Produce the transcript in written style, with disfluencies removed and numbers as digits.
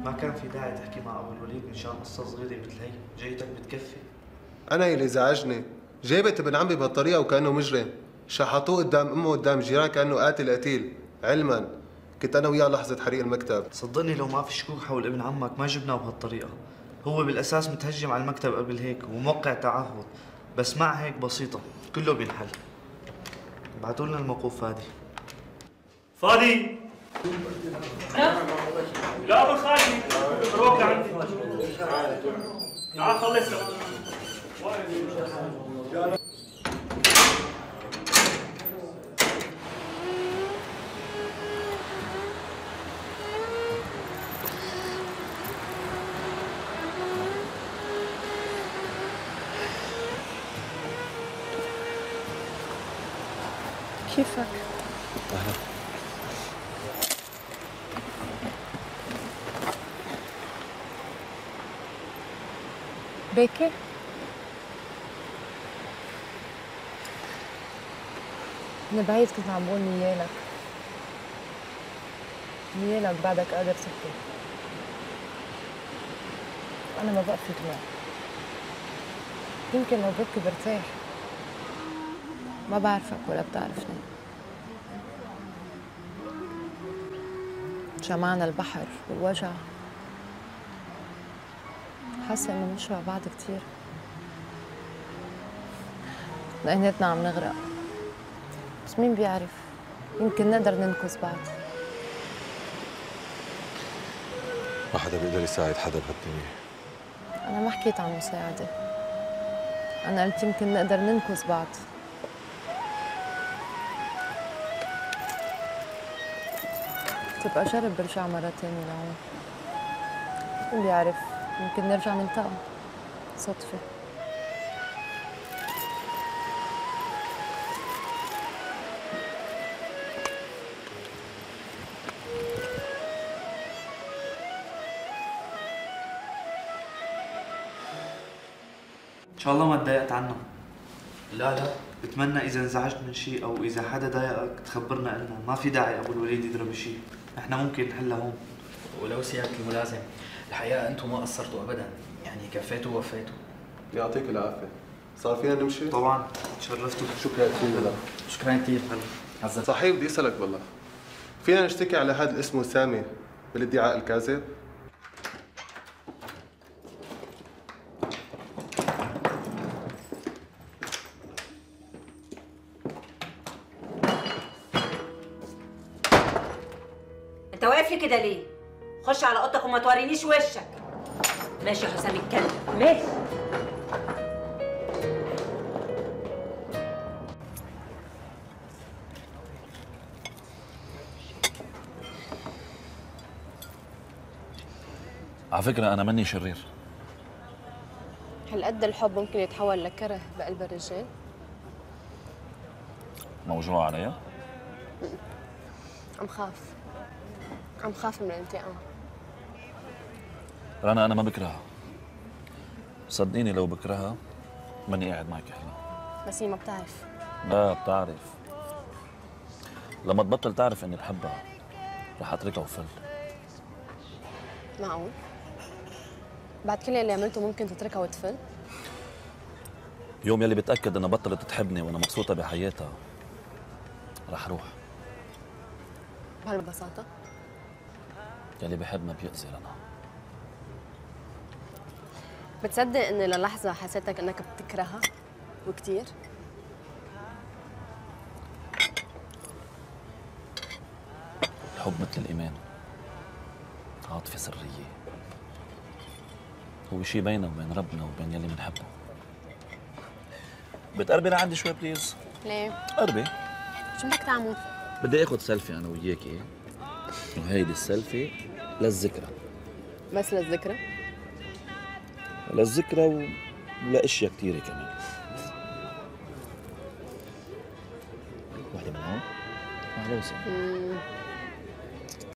ما كان في داعي تحكي مع ابو الوليد مشان قصة صغيرة مثل هي، جيتك بتكفي. انا اللي زعجني جابت ابن عمي بهالطريقه وكانه مجرم، شحطوه قدام امه قدام الجيران كانه قاتل. علما كنت انا وياه لحظه حريق المكتب. صدقني لو ما في شكوك حول ابن عمك ما جبناه بهالطريقة. هو بالاساس متهجم على المكتب قبل هيك وموقع تعهد، بس مع هيك بسيطة كله بينحل. ابعتوا لنا الموقوف فادي. فادي لا ابو خالي روح لعندي تعال خلصنا. كيفك؟ اهلا. باكر؟ أنا بعيد كنت عم بقول نيالك بعدك قادر تبكي. أنا ما بقى في دموع، يمكن لو ببكي برتاح. ما بعرفك ولا بتعرفني. جمعنا البحر والوجع، حاسة إنه بنشبه بعض كتير. لقيناتنا عم نغرق، بس مين بيعرف، يمكن نقدر ننقذ بعض. ما حدا بيقدر يساعد حدا بهالدنيا. أنا ما حكيت عن مساعدة، أنا قلت يمكن نقدر ننقذ بعض. تبقى جرب برجع مرة تانية لهون، مين بيعرف، يمكن نرجع نلتقى صدفة. ان شاء الله ما تضايقت عنا. لا بتمنى اذا انزعجت من شيء او اذا حدا ضايقك تخبرنا لنا، ما في داعي ابو الوليد يضرب شيء، احنا ممكن نحلها هون. ولو سيادة الملازم، الحقيقة أنتم ما قصرتوا أبدا، يعني كفيتوا ووفيتوا. يعطيك العافيه. صار فينا نمشي؟ طبعا تشرفتوا. شكرا كثير لك. شكرا كثير. عزت. صحيح بدي اسالك بالله، فينا نشتكي على هذا اللي اسمه سامي بالادعاء الكاذب؟ انت واقف لي كده ليه؟ خش على اوضتك وما تورينيش وشك. ماشي يا حسام الكلب، ماشي. على فكرة أنا ماني شرير. هالقد الحب ممكن يتحول لكره بقلب الرجال؟ موجوع عليا؟ عم خاف من الانتقام. رنا أنا ما بكرهها، صدقيني لو بكرهها ماني قاعد معك هلا. بس هي ما بتعرف. لا بتعرف، لما تبطل تعرف إني بحبها رح أتركها وفل. معقول؟ بعد كل اللي عملته ممكن تتركها وتفل؟ يوم يلي بتأكد إنها بطلت تحبني وأنا مبسوطة بحياتها رح روح. بهالبساطة؟ يلي بحب ما بيأذي رنا. بتصدق إني للحظة حسيتك إنك بتكرهها وكتير؟ الحب مثل الإيمان، عاطفة سرية، هو شي بيننا وبين ربنا وبين يلي بنحبه. بتقربي لعندي شوي بليز؟ ليه؟ قربي. شو بدك تعمل؟ بدي اخذ سيلفي انا وياكي، وهيدي السيلفي للذكرى. بس للذكرى؟ للذكرى ولاشياء كثيره كمان. وحده من هون؟ معلوسه.